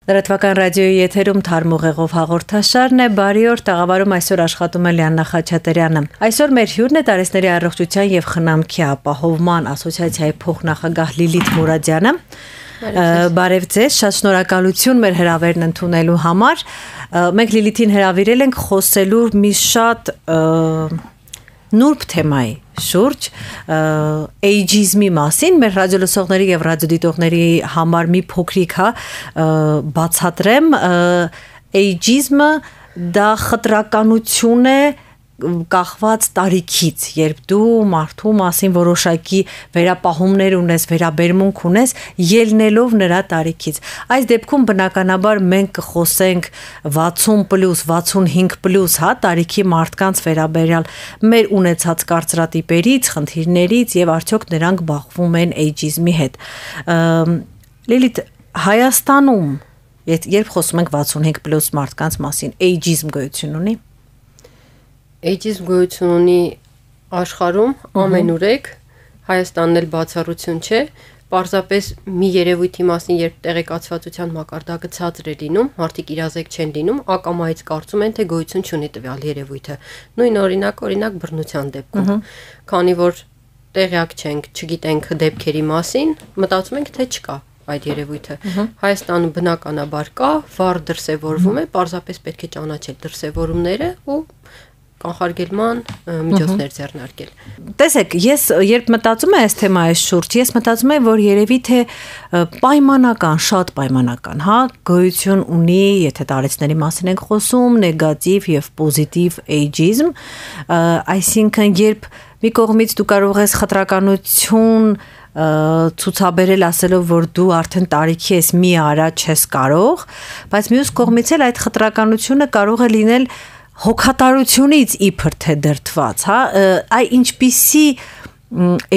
Լրատվական ռադիոյի եթերում թարմ ուղեղով հաղորդաշարն է, բարի օր, տաղավարում այսօր աշխատում է Լիաննա Խաչատրյանը։ Այսօր մեր հյուրն է տարեցների առողջության եւ խնամքի ապահովման ասոցիացիայի փոխնախագահ Լիլիթ Մուրադյանը։ Բարև ձեզ, շատ շնորհակալություն մեր հրավերն ընդունելու համար։ Մենք Լիլիթին հրավիրել ենք խոսելու մի շատ նուրբ թեմայի շուրջ էյջիզմի մասին, մեր ռադիոլսողների եւ ռադիոդիտողների համար մի փոքրիկ բացատրեմ, էյջիզմը դա խտրականություն է կախված տարիքից, երբ դու մարդու մասին որոշակի վերապահումներ ունես, վերաբերմունք ունես, ելնելով նրա տարիքից։ Այս դեպքում բնականաբար մենք կխոսենք 60+, 65+, տարիքի մարդկանց վերաբերյալ մեր ունեցած կարծրատիպերից, խնդիրներից եւ արդյոք նրանք բախվում են էյջիզմի հետ։ Լիլիթ, Հայաստանում, երբ խոսում ենք 65+ մարդկանց մասին, էյջիզմ գոյություն ունի։ Էյջիզմ գոյություն ունի աշխարհում ամենուրեք, Հայաստանն էլ բացառություն չէ, պարզապես մի երևույթի մասին, երբ տեղեկացվածության մակարդակը ցածր է լինում, մարդիկ իրազեկ չեն լինում, ակամայից կարծում են, թե գոյություն չունի տվյալ երևույթը։ Նույն օրինակ բռնության դեպքում, քանի որ տեղյակ չենք, չգիտենք դեպքերի մասին, մտածում ենք, թե չկա այդ երևույթը։ Հայաստանում բնականաբար կա, վառ դրսևորվում է, պարզապես պետք է ճանաչել դրսևորումները ու կանխարգելման միջոցներ ձեռնարկել։ Տեսեք, ես երբ մտածում եմ այս թեմայի շուրջ, ես մտածում եմ, որ երևի թե պայմանական, շատ պայմանական, գոյություն ունի, եթե տարեցների մասին ենք խոսում, նեգատիվ եւ պոզիտիվ էյջիզմ, այսինքն երբ մի կողմից դու կարող ես խտրականություն ցուցաբերել ասելով, որ դու արդեն տարիքի ես մի արա չես կարող, բայց մյուս կողմից էլ այդ խտրականությունը կարող է լինել հոգատարությունից իբր թե դրդված, այ ինչպիսի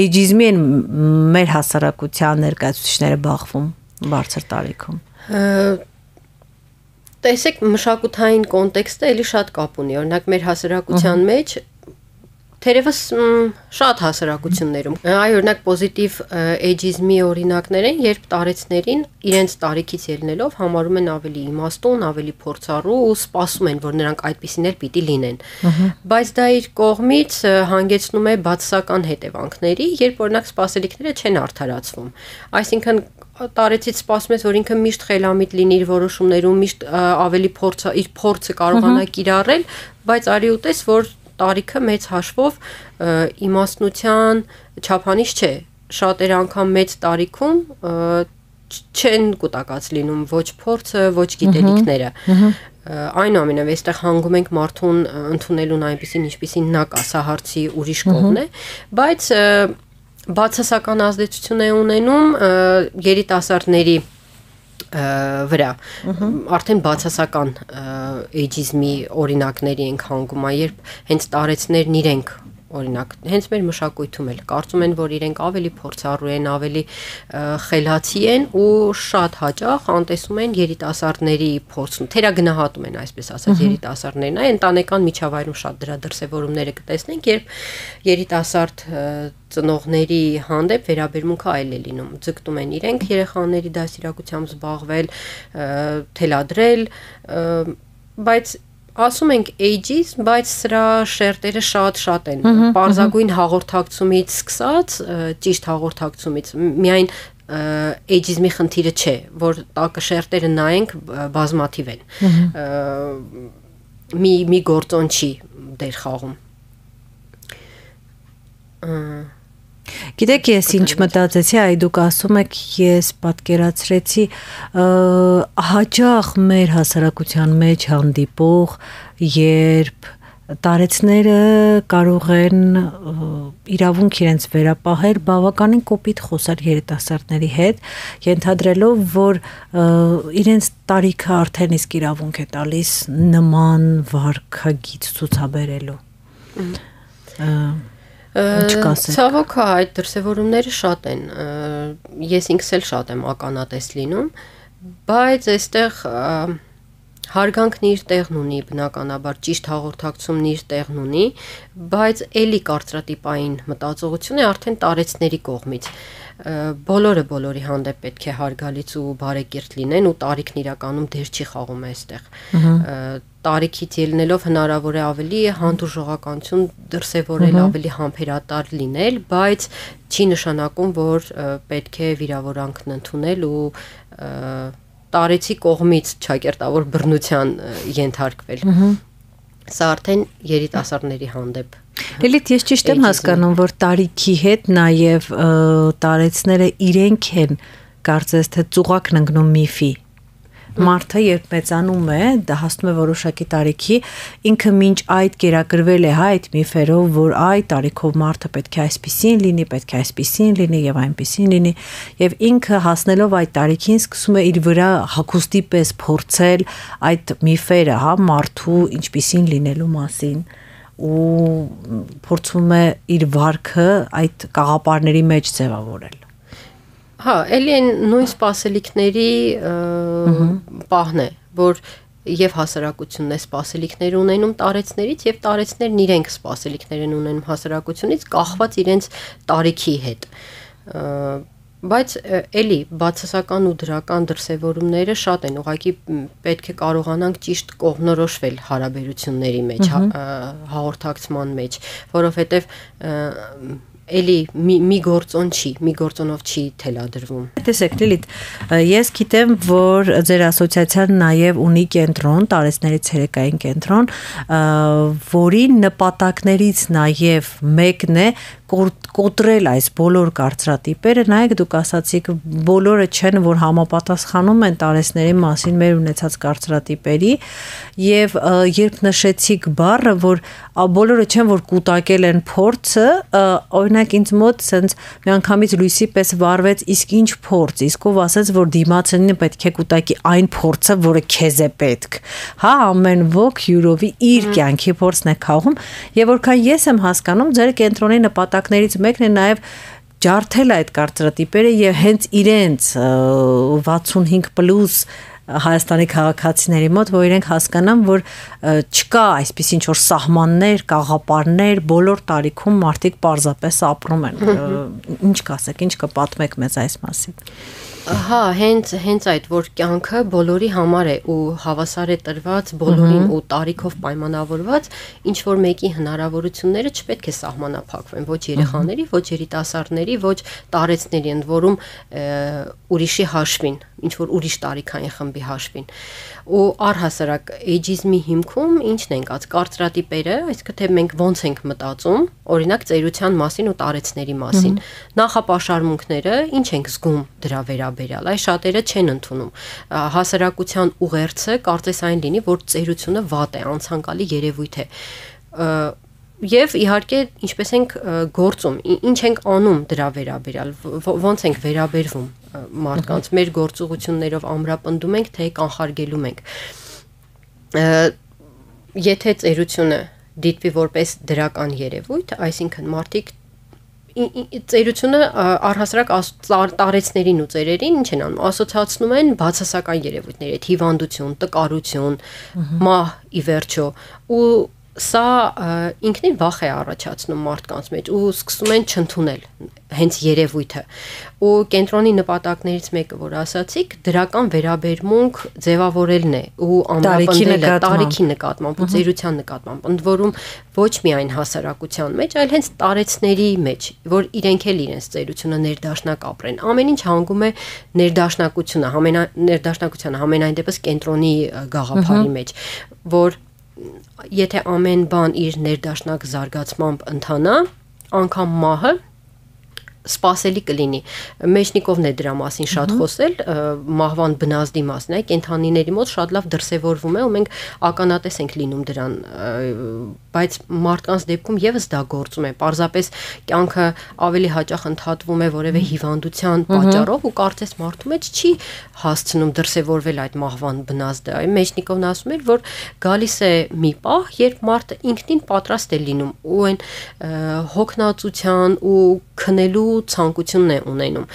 էյջիզմի են մեր հասարակության ներկայացուցիչները բախվում բարձր տարիքում։ Տեսեք, մշակութային կոնտեքստը էլի շատ կապ ունի, օրինակ մեր հասարակության մեջ թերևս շատ հասարակություններում, օրինակ պոզիտիվ էյջիզմի օրինակներ են, երբ տարեցներին իրենց տարիքից ելնելով համարում են ավելի իմաստուն, ավելի փորձառու ու սպասում են, որ նրանք այդպիսին էլ պիտի լինեն։ Բայց դա իր կողմից հանգեցնում է բացասական հետևանքների, երբ օրինակ սպասելիքները չեն արդարացվում։ Այսինքն տարեցից սպասում ես, որ ինքը միշտ խելամիտ լինի իր որոշումներում, միշտ ավելի իր փորձը կարողանա կիրառել, բայց արի ուտես, որ տարիքը մեծ հաշվով իմաստնության չափանիշ չէ, շատեր անգամ մեծ տարիքում չեն կուտակած լինում ոչ փորձը, ոչ գիտելիքները։ Այնուամենայնիվ այստեղ հանգում ենք մարդուն ընդունելուն այնպիսին, ինչպիսին նա կա, սա հարցի ուրիշ կողմն է, բայց բացասական ազդեցություն է ունենում երիտասարդների վրա, արդեն բացասական էյջիզմի օրինակների ենք հանգում, երբ հենց տարեցներն իրենք, օրինակ, հենց մեր մշակույթում էլ կարծում են, որ իրենք ավելի փորձառու են, ավելի խելացի են ու շատ հաճախ անտեսում են երիտասարդների փորձում, թերագնահատում են, այսպես ասած, երիտասարդներին, ընտանեկան միջավայրում շատ դրա դրսևորումները կտեսնենք, երբ երիտասարդ ծնողների հանդեպ վերաբերմունքը այլ է լինում, ձգտում են իրենք երեխաների դաստիարակությամբ զբաղվել, թելադրել, բայց ասում ենք էյջիզմ, բայց սրա շերտերը շատ են, պարզագույն հաղորդակցումից սկսած, ճիշտ հաղորդակցումից, միայն էյջիզմի խնդիրը չէ, որ տակը շերտերը նայենք բազմաթիվ են, մի գործոն չի դեր խաղում։ Գիտեք, ես ինչ մտածեցի, այ դուք ասում եք, ես պատկերացրեցի հաճախ մեր հասարակության մեջ հանդիպող, երբ տարեցները կարող են իրավունք իրենց վերապահել, բավականին կոպիտ խոսալ երիտասարդների հետ, ենթադրելով, որ իրենց տարիքը արդեն իսկ իրավունք է տալիս նման վարքագիծ ցուցաբերելու։ Ցավոք այդ դրսևորումները շատ են, ես ինքս էլ շատ եմ ականատես լինում, բայց այստեղ հարգանքն իր տեղն ունի, բնականաբար ճիշտ հաղորդակցումն իր տեղն ունի, բայց էլի կարծրատիպային մտածողություն է արդեն տարեցների կողմից։ բոլորի հանդեպ պետք է հարգալից ու բարեկիրթ լինեն ու տարիքն իրականում դեր չի խաղում այստեղ։ Տարիքից ելնելով հնարավոր է ավելի հանդուրժողականություն դրսևորել, ավելի համբերատար լինել, բայց չի նշանակում, որ պետք է վիրավորանքն ընդունել ու տարեցի կողմից ճակերտավոր բռնության ենթարկվել։ Սա արդեն երիտասարդների հանդեպ։ Լիլիթ, ես ճիշտ եմ հասկանում, որ տարիքի հետ նաև տարեցները իրենք են կարծես թե ծուղակն ընկնում միֆի։ Մարդը երբ մեծանում է, դա հասնում է որոշակի տարիքի, ինքը մինչ այդ կերակրվել է այդ միֆերով, որ այ տարիքով մարդը պետք է այսպիսին լինի, պետք է այսպիսին լինի եւ այնպիսին լինի, եւ ինքը հասնելով այդ տարիքին սկսում է իր վրա հագուստի պես փորձել այդ միֆերը, հա, մարդու ինչպիսին լինելու մասին ու փորձում է իր վարքը այդ կաղապարների մեջ ձևավորել։ Հա, էլի են նույն սպասելիքների պահն է, որ եւ հասարակությունն է սպասելիքներ ունենում տարեցներից եւ տարեցներն իրենք սպասելիքներ են ունենում հասարակությունից կախված իրենց տարիքի հետ։ Բայց էլի բացասական ու դրական դրսևորումները շատ են, ուղղակի պետք է կարողանանք ճիշտ կողմնորոշվել հարաբերությունների մեջ, հաղորդակցման մեջ, որովհետեւ էլի մի գործոնով չի թելադրվում։ Տեսեք, Լիլիթ, ես գիտեմ, որ ձեր ասոցիացիան նաև ունի կենտրոն, տարեցների ցերեկային կենտրոն, որի նպատակներից նաև մեկն է կոտրել այս բոլոր կարծրատիպերը, նայեք դուք ասացիք, բոլորը չեն, որ համապատասխանում են տարեցների մասին մեր ունեցած կարծրատիպերի, եւ երբ նշեցիք բառը, որ բոլորը չեն, որ կուտակել են փորձը, օրինակ ինձ մոտ սենց միանգամից լույսի պես վառվեց, իսկ ինչ փորձ, իսկ ով ասեց, որ դիմացինը պետք է կուտակի այն փորձը, որը քեզ է պետք, հա, ամեն ոք յուրովի իր կյանքի փորձն է քաղում, եւ որքան ես եմ հասկանում, ձեր կենտրոնի նպատակներից մեկն է նաև ջարդել այդ կարծրատիպերը եւ հենց իրենց 65+ Հայաստանի քաղաքացիների մոտ, որ իրենք հասկանան, որ չկա այսպես ինչ որ սահմաններ, կաղապարներ, բոլոր տարիքում մարդիկ պարզապես ապրում են։ Ինչ կասեք, ինչ կպատմեք մեզ այս մասին։ Հա, հենց այդ, որ կյանքը բոլորի համար է ու հավասար է տրված բոլորին ու տարիքով պայմանավորված, ինչ որ մեկի հնարավորությունները չպետք է սահմանափակվեն, ոչ երեխաների, ոչ երիտասարդների, ոչ տարեցների, ընդ որում ուրիշի հաշվին, ինչ որ ուրիշ տարիքային խմբի հաշվին։ Ու առհասարակ էյջիզմի հիմքում ինչն են կած կարծրատիպերը, այսինքն թե մենք ոնց ենք մտածում, օրինակ ծերության մասին ու տարեցների մասին, նախապաշարմունքները ինչ ենք զգում դրա վերաբերյալ, այ շատերը չեն ընդունում։ Հասարակության ուղերձը կարծես այն լինի, որ ծերությունը վատ է, անցանկալի երևույթ է։ Եվ իհարկե ինչպես ենք գործում, ինչ ենք անում դրա վերաբերյալ, ոնց ենք վերաբերվում մարդկանց, մեր գործողություններով ամրապնդում ենք, թե կանխարգելում ենք։ Եթե ծերությունը դիտվի որպես դրական երևույթ, այսինքն մարդիկ ծերությունը առհասարակ տարեցներին ու ծերերին ինչ են անում, ասոցիացնում են բացասական երևույթների հետ, հիվանդություն, տկարություն, մահ ի վերջո ու սա ինքնին վախ է առաջացնում մարդկանց մեջ ու սկսում են չընդունել հենց երևույթը ու կենտրոնի նպատակներից մեկը որ ասացիք դրական վերաբերմունք ձևավորելն է ու ամրապնդելը տարիքի նկատմամբ ու ծերության նկատմամբ ընդ որում ոչ միայն հասարակության մեջ այլ հենց տարեցների մեջ որ իրենք էլ իրենց ծերությունը ներդաշնակ ապրեն ամեն ինչ հանգում է ներդաշնակությունը համենայն դեպս կենտրոնի գաղափարի մեջ որ եթե ամեն բան իր ներդաշնակ զարգացմամբ ընթանա, անգամ մահը սպասելի կլինի։ Մեջնիկովն է դրա մասին շատ խոսել, մահվան բնազդի մասին, կենդանիների մոտ շատ լավ դրսևորվում է ու մենք ականատես ենք լինում դրան, բայց մարդկանց դեպքում եւս դա գործում է։ Պարզապես կյանքը ավելի հաճախ ընդհատվում է որևէ հիվանդության պատճառով ու կարծես մարդու մեջ չի հասցնում դրսևորվել այդ մահվան բնազդը։ Մեջնիկովն ասում էր, որ գալիս է մի պահ, երբ մարդը ինքնին պատրաստ է լինում ու այն հոգնածության ու քնելու ցանկությունն է ունենում։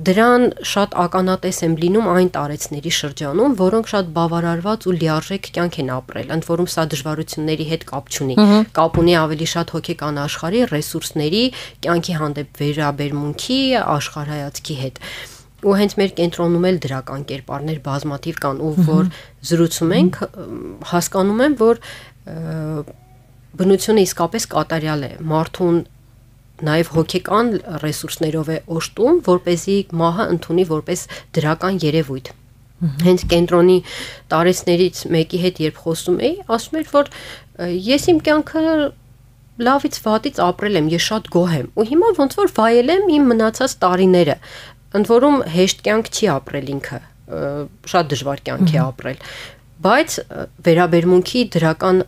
Դրան շատ ականատես եմ լինում այն տարեցների շրջանում, որոնք շատ բավարարված ու լիարժեք կյանք են ապրել, ընդ որում սա դժվարությունների հետ կապ չունի։ Կապ ունի ավելի շատ հոգեկան աշխարհի, ռեսուրսների, կյանքի հանդեպ վերաբերմունքի, աշխարհայացքի հետ։ Ու հենց մեր կենտրոնում էլ դրական կերպարներ բազմաթիվ կան, ու որ զրուցում ենք, հասկանում եմ, որ բնությունը իսկապես կատարյալ է, մարդուն նաև հոգեկան ռեսուրսներով է օժտում, որպեսզի մահը ընդունի որպես դրական երևույթ։ Հենց կենտրոնի տարեցներից մեկի հետ երբ խոսում էի, ասում էր, որ ես իմ կյանքը լավից վատից ապրել եմ, ես շատ գոհ եմ, ու հիմա ոնց որ վայել եմ իմ մնացած տարիները, ընդ որում հեշտ կյանք չի ապրել ինքը, շատ դժվար կյանք է ապրել, բայց վերաբերմունքի դրական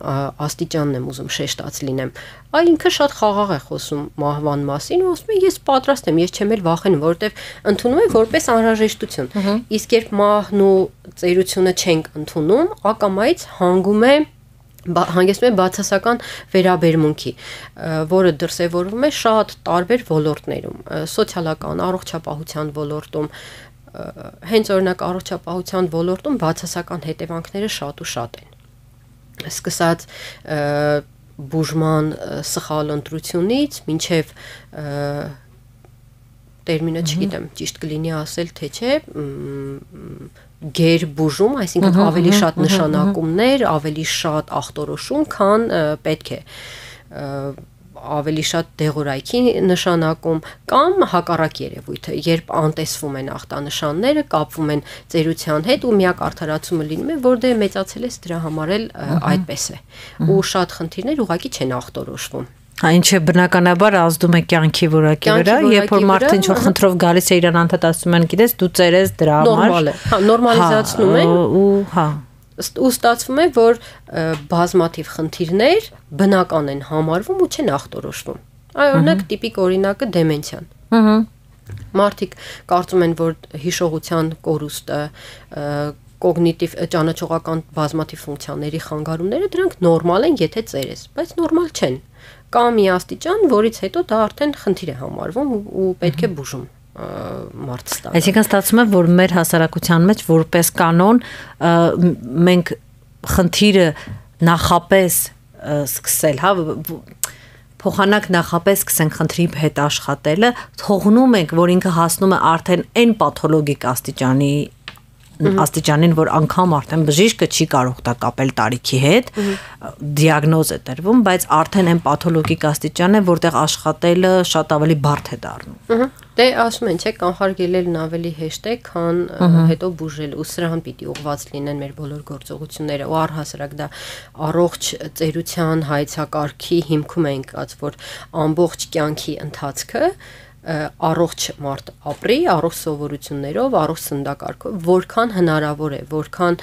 աստիճանն եմ ուզում շեշտած լինեմ։ Այ ինքը շատ խաղաղ է խոսում մահվան մասին ու ասում է ես պատրաստ եմ, ես չեմ էլ վախենում, որովհետև ընդունում եմ որպես անհրաժեշտություն։ Իսկ երբ մահն ու ծերությունը չենք ընդունում, ակամայից հանգեցնում է բացասական վերաբերմունքի, որը դրսևորվում է շատ տարբեր ոլորտներում, սոցիալական, առողջապահության ոլորտում, հենց օրինակ առողջապահության ոլորտում բացասական հետևանքները շատ ու շատ են։ Սկսած բուժման սխալ ընտրությունից մինչև տերմինը չգիտեմ, ճիշտ կլինի ասել, թե չէ, գերբուժում, այսինքն ավելի շատ նշանակումներ, ավելի շատ ախտորոշում, քան պետք է, ավելի շատ դեղորայքի նշանակում կամ հակառակ երևույթը, երբ անտեսվում են ախտանշանները, կապվում են ծերության հետ ու միակ արդարացումը լինում է, որ դե մեծացել ես դրա համար էլ այդպես է։ Ու շատ խնդիրներ ուղղակի չեն ախտորոշվում։ Ինչը բնականաբար ազդում է կյանքի որակի վրա, երբ որ մարդը ինչ-որ խնդրով գալիս է իրան անդադ ասում են, գիտես, դու ծերես դրա համար։ Նորմալ է։ Հա, նորմալիզացնում են։ Ու ստացվում է, որ բազմաթիվ խնդիրներ բնական են համարվում ու չեն ախտորոշվում։ Օրինակ տիպիկ օրինակը դեմենցիան։ Մարդիկ կարծում են, որ հիշողության կորուստը, կոգնիտիվ ճանաչողական բազմաթիվ ֆունկցիաների խանգարումները դրանք նորմալ են, եթե ծերես, բայց նորմալ չեն։ Կա մի աստիճան, որից հետո դա արդեն խնդիր է համարվում ու պետք է բուժում մարդ ստանալ։ Այսինքն ստացվում է, որ մեր հասարակության մեջ որպես կանոն մենք խնդիրը նախապես սկսել, հա, փոխանակ նախապես սկսենք խնդրի հետ աշխատելը, թողնում ենք, որ ինքը հասնում է արդեն այն պաթոլոգիկ աստիճանին, որ անգամ արդեն բժիշկը չի կարող դա կապել տարիքի հետ, դիագնոզ է տրվում, բայց արդեն այն պաթոլոգիկ աստիճան է, որտեղ աշխատելը շատ ավելի բարդ է դառնում։ Դե ասում են, չէ, կանխարգելելն ավելի հեշտ է, քան հետո բուժել, ու սրան պիտի ուղղված լինեն մեր բոլոր գործողությունները, ու առհասարակ դա առողջ ծերության հայեցակարգի հիմքում է ընկած, որ ամբողջ կյանքի ընթացքը առողջ մարդ ապրի, առողջ սովորություններով, առողջ սննդակարգով, որքան հնարավոր է, որքան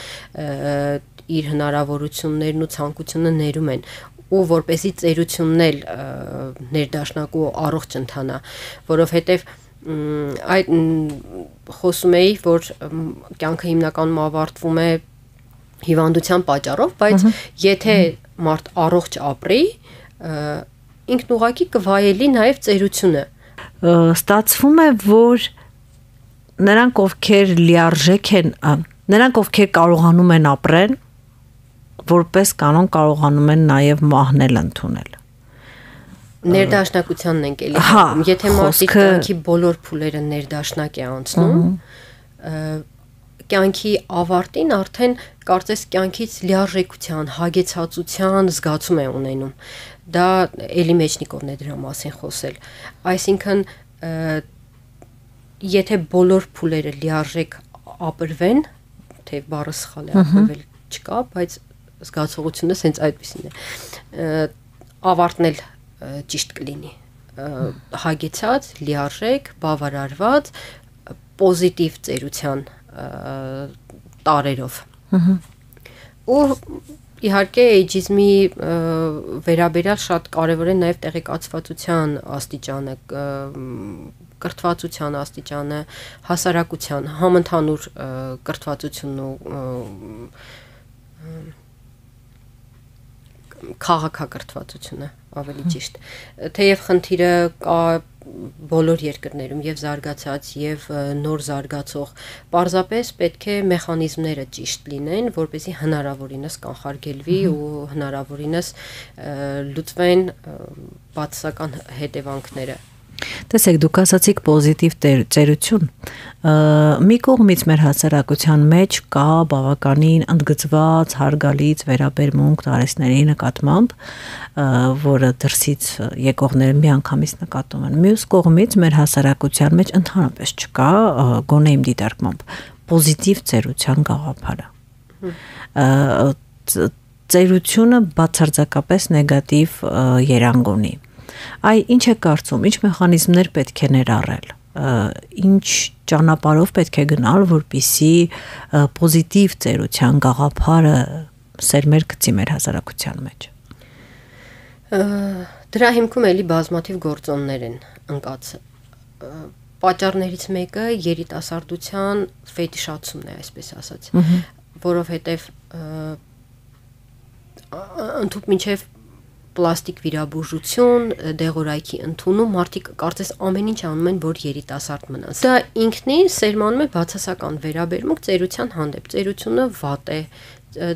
իր հնարավորություններն ու ցանկությունը ներում են, ու որպեսի ծերությունն էլ ներդաշնակ ու առողջ ընթանա, որովհետև այդ խոսում էի, որ կյանքը հիմնականում ավարտվում է հիվանդության պատճառով, բայց եթե մարդ առողջ ապրի, ինքն ուղղակի կվայելի նաև ծերությունը։ Ստացվում է, որ նրանք ովքեր լիարժեք են, նրանք ովքեր կարողանում են ապրել, որպես կանոն կարողանում են նաև մահնել ընդունել։ Ներդաշնակությանն ենք էլի հանդիպում, եթե մարդի կյանքի բոլոր փուլերը ներդաշնակ է անցնում, կյանքի ավարտին արդեն կարծես կյանքից լիարժեքության, հագեցածության զգացում է ունենում։ Դա էլի Մեջնիկովն է դրա մասին խոսել։ Այսինքն եթե բոլոր փուլերը լիարժեք ապրվեն, թե բառը սխալ է ապրվել չկա, բայց զգացողությունը սենց այդպեսին է։ Ավարտն էլ ճիշտ կլինի։ Հագեցած, լիարժեք, բավարարված, պոզիտիվ ծերության տարերով։ Ու իհարկե էյջիզմի վերաբերյալ շատ կարևոր է նաև տեղեկացվածության աստիճանը, կրթվածության աստիճանը, հասարակության, համընդհանուր կրթվածությունն ու քաղաքակրթվածությունը ավելի ճիշտ։ Թեև խնդիրը կա բոլոր երկրներում եւ զարգացած եւ նոր զարգացող պարզապես պետք է մեխանիզմները ճիշտ լինեն, որպեսզի հնարավորինս կանխարգելվի ու հնարավորինս լուծվեն բացասական հետևանքները։ Տեսեք, դուք ասացիք պոզիտիվ ծերություն։ Մի կողմից մեր հասարակության մեջ կա բավականին ընդգծված, հարգալից վերաբերմունք տարեցների նկատմամբ, որը դրսից եկողները միանգամից նկատում են։ Մյուս կողմից մեր հասարակության մեջ ընդհանրապես չկա, գոնե իմ դիտարկմամբ, պոզիտիվ ծերության գաղափարը։ Ծերությունը բացարձակապես նեգատիվ երանգ ունի։ Այ ինչ է կարծում, ինչ մեխանիզմներ պետք է ներառել, ինչ ճանապարհով պետք է գնալ, որպեսզի պոզիտիվ ծերության գաղափարը սերմեր գցի մեր հասարակության մեջ։ Դրա հիմքում էլի բազմաթիվ գործոններ են ընկած։ Պատճառներից մեկը երիտասարդության ֆետիշացումն է, այսպես ասած, որովհետև ընդհանուր մինչև պլաստիկ վիրաբուժություն, դեղորայքի ընդունում, մարդիկ կարծես ամեն ինչ անում են, որ երիտասարդ մնան։ Դա ինքնին սերմանում է բացասական վերաբերմունք ծերության հանդեպ։ Ծերությունը վատ է,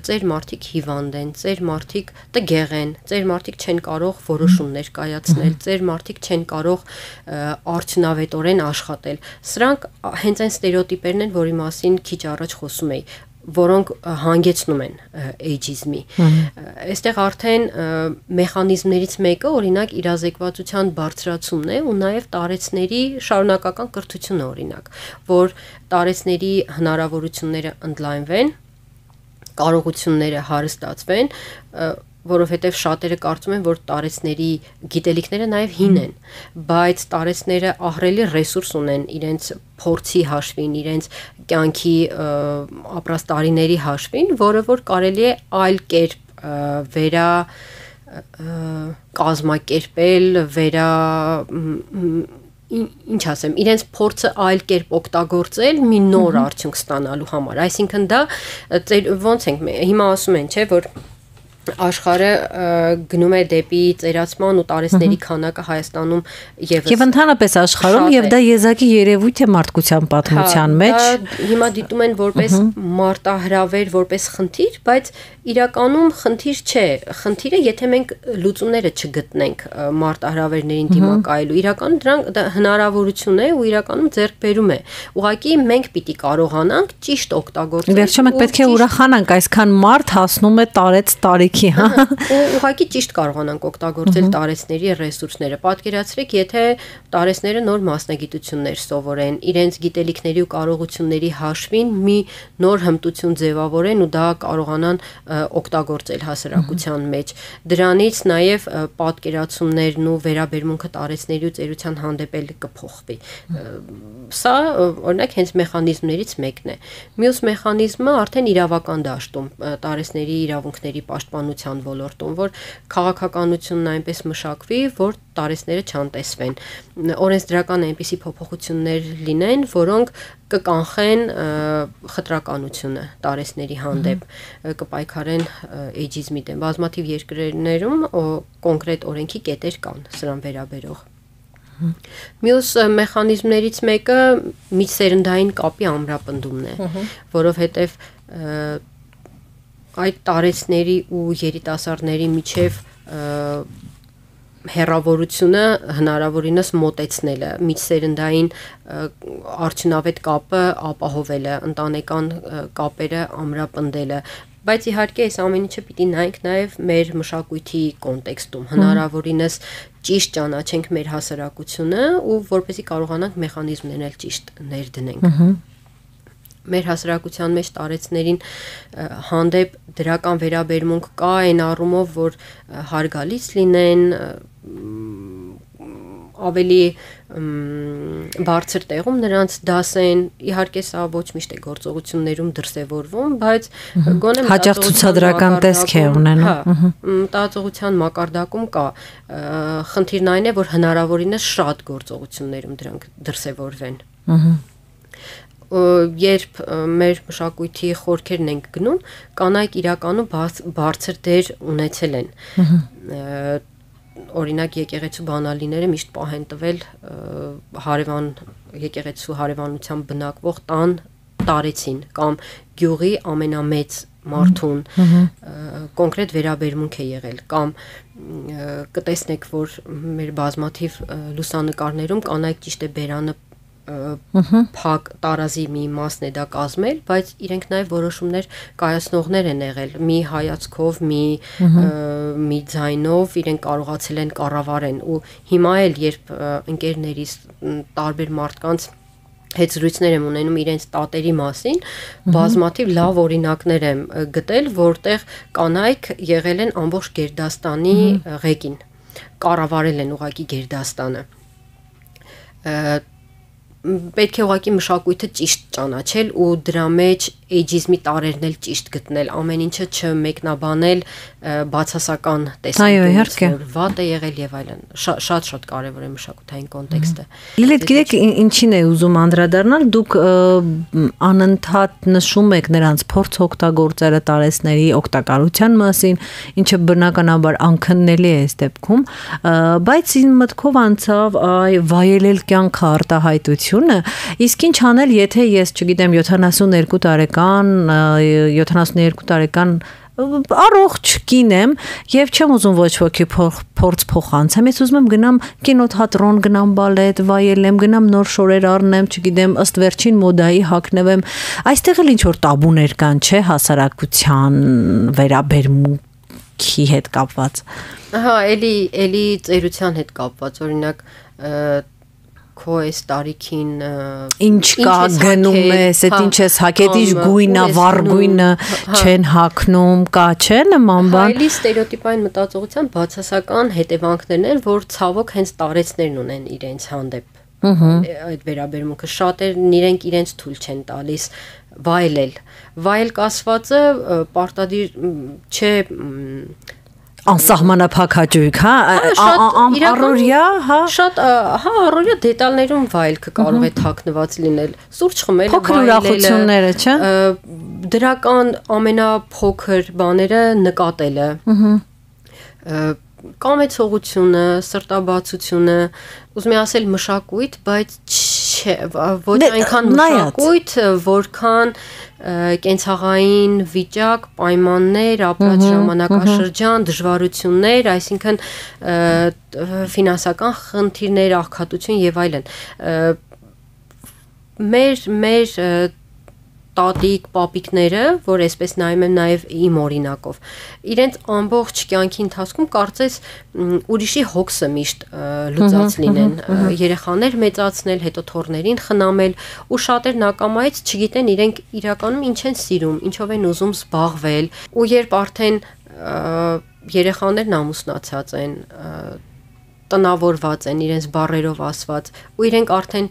ծեր մարդիկ հիվանդ են, ծեր մարդիկ տգեղ են, ծեր մարդիկ չեն կարող որոշումներ կայացնել, ծեր մարդիկ չեն կարող արդյունավետորեն աշխատել։ Սրանք հենց այն ստերեոտիպերն են, որի մասին քիչ առաջ խոսում էի, որոնք հանգեցնում են էյջիզմի։ Այստեղ արդեն մեխանիզմներից մեկը օրինակ իրազեկվածության բարձրացումն է ու նաև տարեցների շարունակական կրթությունը օրինակ, որ տարեցների հնարավորությունները ընդլայնվեն, կարողությունները հարստացվեն, որովհետև շատերը կարծում են, որ տարեցների գիտելիքները նաև հին են, բայց տարեցները ահռելի ռեսուրս ունեն իրենց փորձի հաշվին, իրենց կյանքի ապրած տարիների հաշվին, որը որ կարելի է այլ կերպ կազմակերպել, ինչ ասեմ, իրենց փորձը այլ կերպ օգտագործել մի նոր արդյունք ստանալու համար։ Այսինքն դա ոնց ենք հիմա ասում են, չէ, որ աշխարհը գնում է դեպի ծերացման ու տարեցների քանակը Հայաստանում եւ ընդհանրապես աշխարհում եւ դա եզակի երևույթ է մարդկության պատմության մեջ։ Հիմա դիտում են որպես մարտահրավեր, որպես խնդիր, բայց իրականում խնդիր չէ։ Խնդիրը, եթե մենք լուծումները չգտնենք մարտահրավերներին դիմակայելու, իրականում դրանք հնարավորություն է ու իրականում ձեռքբերում է։ Ուղղակի մենք պիտի կարողանանք ճիշտ օգտագործել։ Վերջում մենք պետք է ուրախանանք, այսքան մարդ հասնում է տարեց տարի Ուղղակի ճիշտ կարողանանք օգտագործել տարեցների ռեսուրսները։ Պատկերացրեք, եթե տարեցները նոր մասնագիտություններ սովորեն, իրենց գիտելիքների ու կարողությունների հաշվին մի նոր հմտություն ձևավորեն ու դա կարողանան օգտագործել հասարակության մեջ։ Դրանից նաև պատկերացումներն ու վերաբերմունքը տարեցների ու ծերության հանդեպ էլ կփոխվի։ Սա օրինակ հենց մեխանիզմներից մեկն է։ Մյուս մեխանիզմը արդեն իրավական դաշտում տարեցների իրավունքների պաշտպանության ոլորտում, որ քաղաքականությունն այնպես մշակվի, որ տարեցները չանտեսվեն։ Օրենսդրական այնպիսի փոփոխություններ լինեն, որոնք կկանխեն խտրականությունը տարեցների հանդեպ, կպայքարեն էյջիզմի դեմ։ Բազմաթիվ երկրներում կոնկրետ օրենքի կետեր կան սրան վերաբերող։ Մյուս մեխանիզմներից մեկը միջսերնդային կապի ամրապնդումն է, որովհետև այդ տարեցների ու երիտասարդների միջև հեռավորությունը հնարավորինս մոտեցնելը, միջսերնդային արդյունավետ կապը ապահովելը, ընտանեկան կապերը ամրապնդելը, բայց իհարկե այս ամեն ինչը պիտի նայենք նաև մեր մշակույթի կոնտեքստում, հնարավորինս ճիշտ ճանաչենք մեր հասարակությունը ու որպեսզի կարողանանք մեխանիզմներն էլ ճիշտ ներդնենք։ Մեր հասարակության մեջ տարեցներին հանդեպ դրական վերաբերմունք կա այն առումով, որ հարգալից լինեն, ավելի բարձր տեղում նրանց դասեն, իհարկե սա ոչ միշտ է գործողություններում դրսևորվում, բայց գոնե հաճախ ցուցադրական տեսք է ունենում։ Մտածողության մակարդակում կա։ Խնդիրն այն է, որ հնարավորինս շատ գործողություններում դրանք դրսևորվեն։ Երբ մեր մշակույթի խորքերն ենք գնում, կանայք իրականում բարձր դեր ունեցել են։ օրինակ եկեղեցու բանալիները միշտ պահեն տվել հարևան եկեղեցու հարևանությամբ բնակվող տան տարեցին կամ գյուղի ամենամեծ մարդուն կոնկրետ վերաբերմունք է եղել կամ կտեսնեք որ մեր բազմաթիվ լուսանկարներում կանայք ճիշտ է բերանը փակ տարազի մի մասն է դա կազմել, բայց իրենք նաև որոշումներ կայացնողներ են եղել, մի հայացքով, մի ձայնով իրենք կարողացել են կառավարեն ու հիմա էլ երբ ընկերներիս տարբեր մարդկանց հետ զրույցներ եմ ունենում իրենց տատերի մասին, բազմաթիվ լավ օրինակներ եմ գտել, որտեղ կանայք եղել են ամբողջ Գերդաստանի ղեկին, կառավարել են ուղղակի Գերդաստանը։ Պետք է ուղղակի մշակույթը ճիշտ ճանաչել ու դրա մեջ էյջիզմի տարերն էլ ճիշտ գտնել, ամեն ինչը չմեկնաբանել բացասական տեսանկյունից, որ վատ է եղել եւ այլն։ Շատ կարեւոր է մշակութային կոնտեքստը։ Լիլիթ, գիտեք, ինչին է ուզում անդրադառնալ, դուք անընդհատ նշում եք նրանց փորձ օգտագործելը տարեցների օգտակարության մասին, ինչը բնականաբար անքննելի է այս դեպքում, բայց իմ մտքով անցավ վայելել կյանքը արտահայտությունը, իսկ ինչ անել, եթե ես, չգիտեմ, 72 տարեկան առողջ կին եմ եւ չեմ ուզում ոչ ոքի փորձ փոխանցեմ, ես ուզում եմ գնամ կինոթատրոն, գնամ բալետ, վայելեմ, գնամ նոր շորեր առնեմ, չգիտեմ, ըստ վերջին մոդայի հագնվեմ։ Այստեղ էլ ինչ որ տաբուներ կան, չէ, հասարակության վերաբերմունքի հետ կապված։ Ահա, էլի ծերության հետ կապված, օրինակ քո այս տարիքին ինչ կա գնում ես, այդ ինչ ես հագետ, ինչ գույնա, վառ գույնը չեն հագնում, կա չէ նման բան։ Այլի ստերեոտիպային մտածողության բացասական հետևանքներն են, որ ցավոք հենց տարեցներն ունեն իրենց հանդեպ։ Այդ վերաբերմունքը շատերն իրենք իրենց թույլ չեն տալիս վայելել։ Վայել կասվածը պարտադիր չէ անսահմանափակ հաճույք, հա, առօրյա, հա, շատ, հա, առօրյա դետալներում վայելքը կարող է թաքնված լինել, սուրճ խմելը, փոքր ուրախությունները, չէ, դրական ամենափոքր բաները նկատելը, կամեցողությունը, սրտաբացությունը, ուզում եմ ասել մշակույթ, բայց ոչ այնքան մշակույթ, որքան կենցաղային վիճակ, պայմաններ, ապրած ժամանակաշրջան, դժվարություններ, այսինքն ֆինանսական խնդիրներ, աղքատություն եւ այլն։ Մեր տատիկ, պապիկները, որ այսպես նայում եմ նաև իմ օրինակով, իրենց ամբողջ կյանքի ընթացքում կարծես ուրիշի հոգսը միշտ լուծած լինեն, երեխաներ մեծացնել, հետո թոռներին խնամել, ու շատերն ակամայից չգիտեն իրենք իրականում ինչ են սիրում, ինչով են ուզում զբաղվել, ու երբ արդեն երեխաներն ամուսնացած են, տնավորված են իրենց բառերով ասված ու իրենք արդեն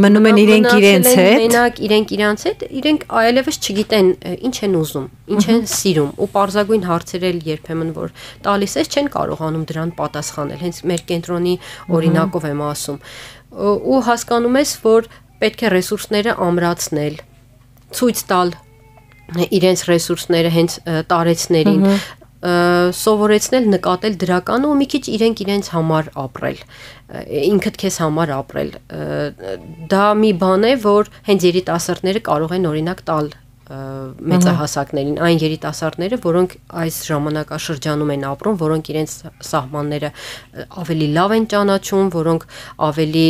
մնում են իրենք իրենց հետ մենակ իրենք իրանց հետ իրենք այլևս չգիտեն ինչ են ուզում ինչ են սիրում ու պարզագույն հարցերել երբեմն որ տալիս ես չեն կարողանում դրան պատասխանել հենց մեր կենտրոնի օրինակով եմ ասում ու հասկանում ես որ պետք է ռեսուրսները ամրացնել ցույց տալ իրենց ռեսուրսները հենց տարեցներին սովորեցնել նկատել դրականը ու մի քիչ իրենց համար ապրել ինքդ քեզ համար ապրել դա մի բան է որ հենց երիտասարդները կարող են օրինակ տալ մեծահասակներին այն երիտասարդները որոնք այս ժամանակաշրջանում են ապրում որոնք իրենց սահմանները ավելի լավ են ճանաչում որոնք ավելի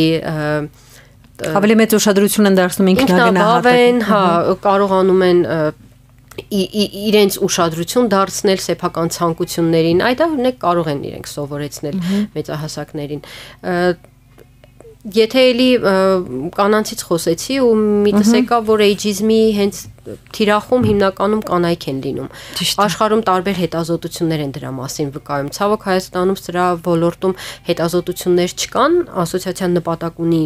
մեծ ուշադրություն են դարձնում ինքնագնահատականին հա կարողանում են իրենց ուշադրություն դարձնել սեփական ցանկություններին, այդ օրինակ կարող են իրենք սովորեցնել մեծահասակներին։ Եթե էլի կանանցից խոսեցի ու միտս եկա, որ էյջիզմի հենց թիրախում հիմնականում կանայք են լինում։ Աշխարհում տարբեր հետազոտություններ են դրա մասին վկայում։ Ցավոք Հայաստանում սրա ոլորտում հետազոտություններ չկան, ասոցիացիան նպատակ ունի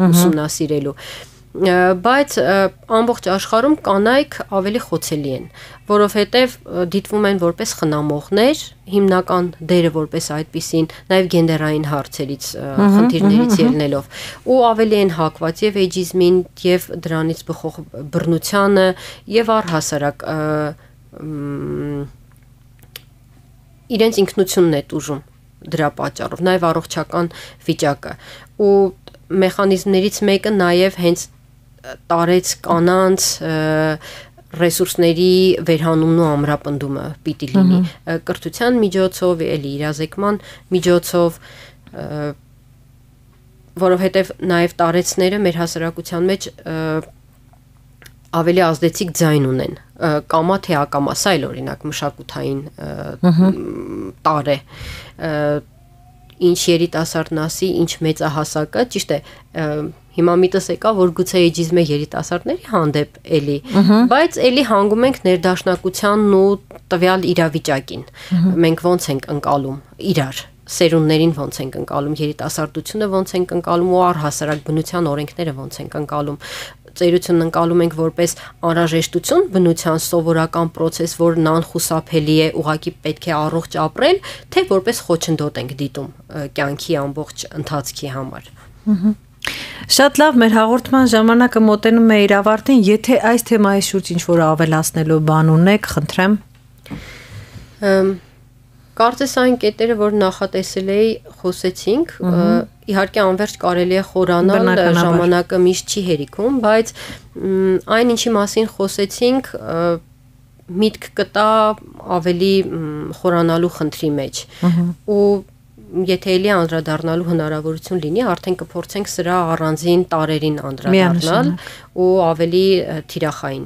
ուսումնասիրելու։ Բայց ամբողջ աշխարհում կանայք ավելի խոցելի են, որովհետև դիտվում են որպես խնամողներ, հիմնական դերը որպես այդպիսին, նաև գենդերային հարցերից, խնդիրներից ելնելով, ու ավելի են հակված եւ էյջիզմին, եւ դրանից բխող բռնությանը, եւ առհասարակ իրենց ինքնությունն է տուժում։ դրա պատճառով, նաև առողջական վիճակը։ Ու մեխանիզմներից մեկը նաև հենց տարեց կանանց ռեսուրսների վերհանումն ու ամրապնդումը պիտի լինի կրթության միջոցով, էլի իրազեկման միջոցով, որովհետև նաև տարեցները մեր հասարակության մեջ ավելի ազդեցիկ ձայն ունեն, կամա թե ակամա, սա էլ օրինակ մշակութային տար է, ինչ երիտասարդն ասի, ինչ մեծահասակը, ճիշտ է, հիմա միտս եկա, որ գուցե էջիզմը երիտասարդների հանդեպ էլի, բայց էլի հանգում ենք ներդաշնակությանն ու տվյալ իրավիճակին, մենք ոնց ենք ընկալում իրար, սերունդներին ոնց ենք ընկալում, երիտասարդությունը ոնց ենք ընկալում ու առհասարակ բնության օրենքները ոնց ենք ընկալում, ծերությունն ընկալում ենք որպես անհրաժեշտություն բնության սովորական process, որն անխուսափելի է, ուղղակի պետք է առողջ ապրել, թե որպես խոչընդոտ ենք դիտում կյանքի ամբողջ ընթացքի համար։ Շատ լավ, մեր հաղորդման ժամանակը մոտենում է իր ավարտին, եթե այս թեմայի շուրջ ինչ-որ ավելացնելու բան ունեք, խնդրեմ։ Կարծես այն կետերը, որ նախատեսել էի, խոսեցինք, իհարկե անverջ կարելի է խորանալ, ժամանակը միշտ չի հերիքում, բայց այն ինչի մասին խոսեցինք, միտք կտա ավելի խորանալու խնդրի մեջ։ Ու եթե էլի անդրադառնալու հնարավորություն լինի, արդեն կփորձենք սրա առանձին տարերին անդրադառնալ ու ավելի թիրախային։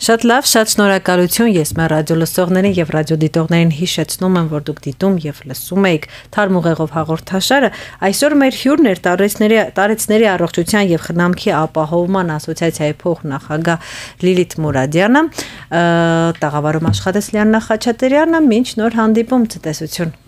Շատ լավ, շատ շնորհակալություն, ես մեր ռադիո լսողներին եւ ռադիոդիտողներին հիշեցնում եմ, որ դուք դիտում եւ լսում եք Թարմ ուղեղով հաղորդաշարը։ Այսօր մեր հյուրն էր տարեցների առողջության եւ խնամքի ապահովման ասոցիացիայի փոխնախագահ Լիլիթ Մուրադյանը, տաղավարում աշխատեց Լիաննա Խաչատրյանը, մինչ նոր հանդիպում, ցտեսություն։